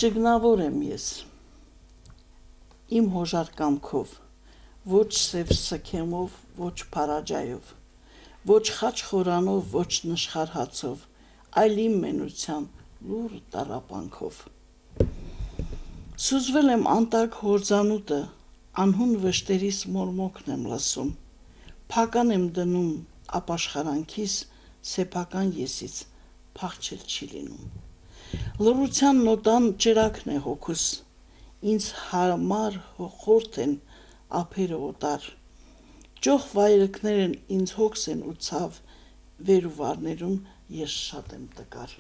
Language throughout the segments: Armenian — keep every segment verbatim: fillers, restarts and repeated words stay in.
Ճգնավոր եմ ես, իմ հոժար կամքով, ոչ սև սքեմով, ոչ փարաջայով, ոչ խաչ խորանով, ոչ նշխար հացով, այլ իմ մենության լուռ տառապանքով։ Սուզվել եմ անտակ հորձանուտը, անհուն վշտերիս մորմոքն եմ լսում, փական եմ դնում ապաշխարանքիս, սեփական եսից փախչել չի լինում։ Լռության նոտան ճրակն է հոգուս, ինձ համար խորթ են ափերը օտար, ճոխ վայրկներն ինձ հոգս են ու ցավ, վեր ու վարներում ես շատ եմ տկար։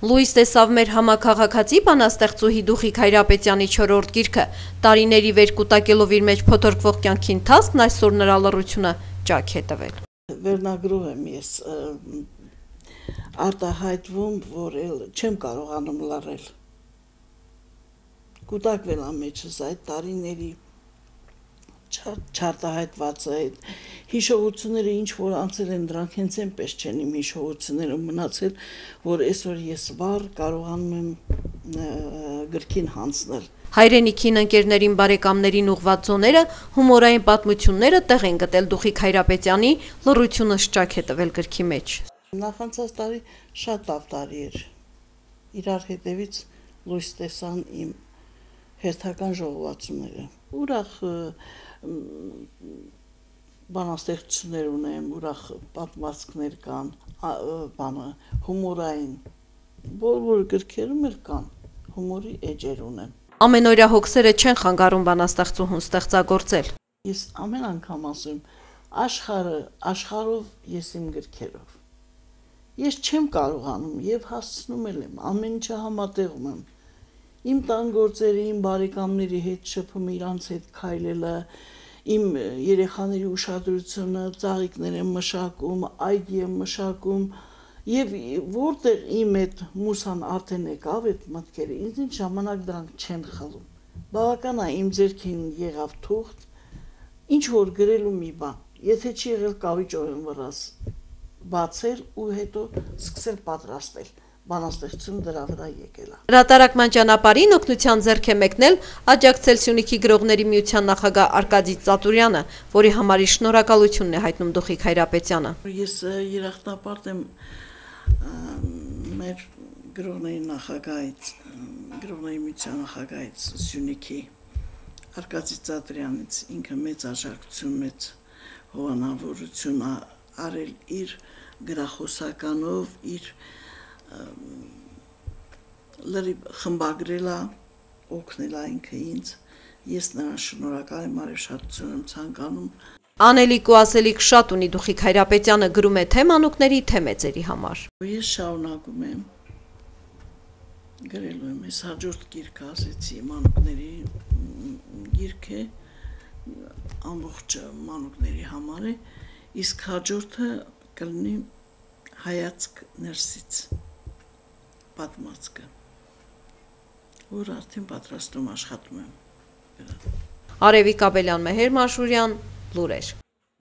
Լույս տեսավ մեր համաքաղաքացի բանաստեղծուհի Դուխիկ Հայրապետյանի չորրորդ գիրքը, տարիների վեր կուտակելով իր մեջ փոթորկվող կյանքի ընթացքն այսօր նրա լռությունը ճաք է տվել։ Վերնագրով եմ ես արտահայտվում, որ էլ չեմ կարողանում լռել։ Կուտակվել եմ մեջս այդ տարիների չարտահայտված այդ հիշողությունները, ինչ որ անցել են, դրանք հենց այնպես չեն իմ հիշողությունները մնացել, որ այսօր ես վառ կարողանում եմ գրքին հանձնել։ Հայրենիքին, ընկերներին, բարեկամներին ուղղված ձոները, հումորային պատմությունները տեղ են գտել Դուխիկ Հայրապետյանի լռությունը ճաք է տվել գրքի մեջ։ Նախանցած տարի շատ լավ տարի էր, իրար հետևից լույս տեսան իմ հերթական ժողովածուները, ուրախ բանաստեղծություններ ունեմ, ուրախ պատմվածքներ կան, բանը, հումորային, բոլոր գրքերում էլ կան, հումորի էջեր ունեմ։ Ամենօրյա հոգսերը չեն խանգարում բանաստեղծուհուն ստեղծագործել։ Ես ամեն անգամ ասում, աշխարհը, աշխարհով ես իմ գրքերով։ Ես չեմ կարողանում եւ հասցնում եմ, ամեն ինչը համատեղում եմ։ Իմ տան գործերը, իմ բարեկամների հետ շփումը, իրանց հետ քայլելը, իմ երեխաների ուշադրությունը, ծաղիկներ եմ մշակում, այգի եմ մշակում եւ որտեղ իմ այդ մուսան արդեն եկավ այդ մտքերը, ինձ ժամանակ դրանք չեն խլում։ Բավական է իմ ձեռքին եղավ թուղթ, ինչ որ գրելու մի բան, եթե չի եղել կավիճորեն վրաս բացել ու հետո սկսել պատրաստել, բանաստեղծությունը դրա վրա եկել է։ Հրատարակման ճանապարհին օգնության ձեռք է մեկնել աջակցել Սյունիքի գրողների միության նախագահ Արկադի Ծատուրյանը, որի համար իր շնորհակալությունն է հայտնում Դուխիկ Հայրապետյանը։ Ես երախտապարտ եմ մեր գրողների նախագահից, գրողների միության նախագահից Սյունիքի Արկադի Ծատուրյանից, ինքը մեծ աջակցություն, մեծ հովանավորություն արել իր գրախոսականով, իր լրիվ խմբագրել է, օգնել է ինքը ինձ, ես նրան շնորհակալ եմ, արևշատություն եմ ցանկանում։ Անելիք ու ասելիք շատ ունի Դուխիկ Հայրապետյանը, գրում է թե մանուկների, թե մեծերի համար։ Ես շարունակում եմ, գրելու եմ, ես հաջորդ գիրքը ասեցի, մանուկների գիրք է, ամբողջ մանուկների համար է, իսկ հաջորդը կլինի հայացք ներսից պատմվածքը, որ արդեն պատրաստում աշխատում եմ։ Արևիկ Աբելյան, Մեհեր Մաշուրյան, լուրեր։